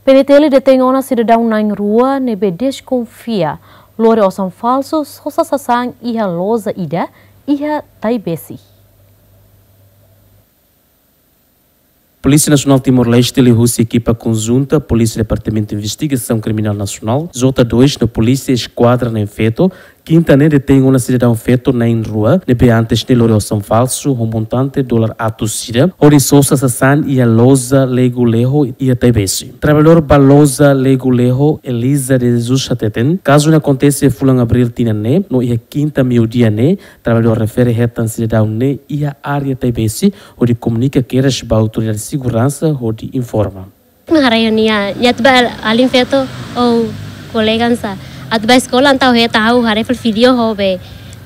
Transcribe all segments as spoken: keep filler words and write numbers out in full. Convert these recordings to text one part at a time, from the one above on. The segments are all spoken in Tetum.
PNTL detein ona sidadaun na'in-rua ne'ebé deskonfia lori osan falsu sosa sasán iha loja ida iha Taibesi. Polísia Nasionál Timor-Leste liuhusi ekipa konjunta Polísia Departamentu Investigasaun Kriminál Nasionál, J dois, no Polísia Eskuadra na'in feto, Kinta ne'e detein ona sidadaun feto na'in-rua ne'ebé antes ne'e lori osan falsu ho montante dolar atus ida hodi sosa sasán iha loja Lego Leho iha Taibesi. Traballadór ba loja Lego Leho, Eliza de Jesus, hateten kazu ne'e akontese fulan Abríl tinan ne'e, no iha Kinta meiudia ne'e traballadór refere hetan sidadaun ne'e iha área Taibesi hodi komunika kedas ba autoridade seguransa hodi informa. Nia haree nia, nia atu bá alin feto, ou kolega hanesan, atu bá eskola, entaun hetan ha'u haree fali vídeo ho be,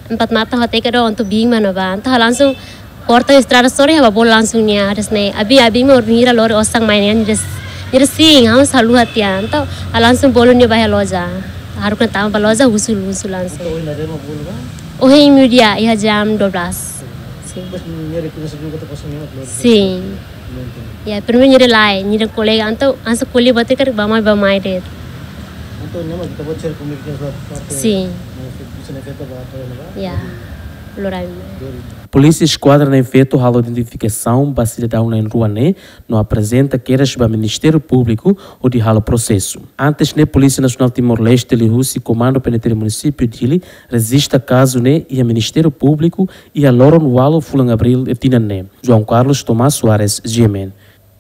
empat mata hateke do ontu bing mana ba, entaun langsung porta estrada sore haba bol langsung nia, hanesan ne'e, abi, abi mo mira lori osan mai ne'e, nia des, nia des sin, ha'u haluha tiha, entaun langsung bolu nia bá iha loja, haruka tama bá loja, husu, husu langsung. Entaun ohin nia demo bolu bá? Ohin meiudia, iha jam dua belas. Sin. Depois nia rekoñese juga tu kosong nia lori. Sin. Ya, primeiru nia lae, nia kolega, entaun hanesan ko'alia buat ida karik bá mai, bá mai de'it. Entaun nia mak ita buat share komunikasi ba parte. Sin. Bisa ne'e feto ba apa ya, ba? Ya. Lori. Lori. Polísia Eskuadra na'in feto halo identifikasaun ba sidadaun na'in-rua ne'e, no aprezenta kedas ba Ministériu Públiku hodi halo prosesu. Antes ne'e Polísia Nasionál Timor-Leste liuhusi Komandu PNTL Munisípiu Dili rejista kazu ne'e iha Ministériu Públiku iha loron ualu fulan Abríl tinan ne'e. João Carlos Tomás Soares, G M N.